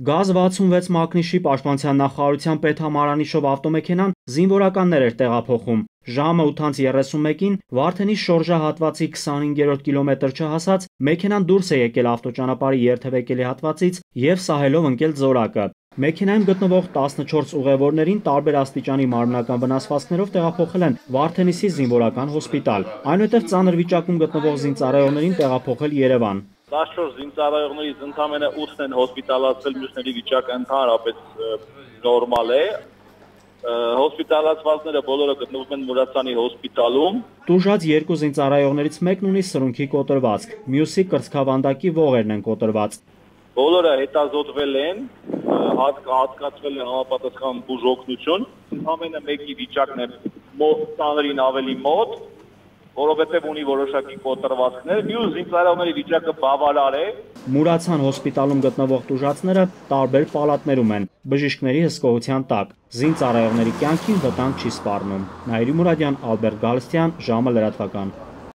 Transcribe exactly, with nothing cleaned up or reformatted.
Գազ վաթսունվեց մակնիշի պաշտպանության նախարարության պետհամարանիշով ավտոմեքենան զինվորականներ էր տեղափոխում։ Ժամը ութ անց երեսունմեկին Վարդենի շորժահատվածի քսանհինգերորդ կիլոմետր չհասած մեքենան դուրս է եկել ավտոճանապարհի երթևեկելի հատվածից եւ սահելով ընկել զորակը։ Մեքենայում գտնվող տասնչորս ուղևորներին տարբեր աստիճանի մարմնական վնասվածքներով տեղափոխել են Վարդենիսի զինվորական հոսպիտալ, այնուհետև ծանր վիճակում գտնվող զինծառայողներին տեղափոխել Երևան։ տասնչորս զինծառայողներից ընդամենը ութն են հոսպիտալացվել, մյուսների վիճակը ընդհանրապես նորմալ է։ Հոսպիտալացվածները բոլորը գտնվում են Մուրացյանի հոսպիտալում։ Տուժած երկու զինծառայողներից մեկն ունի սրունքի կոտրվածք, մյուսի կրծքավանդակի ողերն են կոտրված։ Բոլորը հետազոտվել են, հատկացվել է համապատասխան բուժօգնություն։ Ընդամենը մեկի վիճակն է ծանրին ավելի մոտ, որովհետև ունի որոշակի կոտրվածքներ, մյուս զինծառայողների վիճակը բավարար է։ Մուրացյան հոսպիտալում գտնվող տուժածները տարբեր պալատներում են, բժիշկների հսկողության տակ։ Զինծառայողների կյանքին վտանգ չի սպառնում։ Նաիրի Մուրադյան, Ալբերտ Գալստյան, ժամը լրատվական։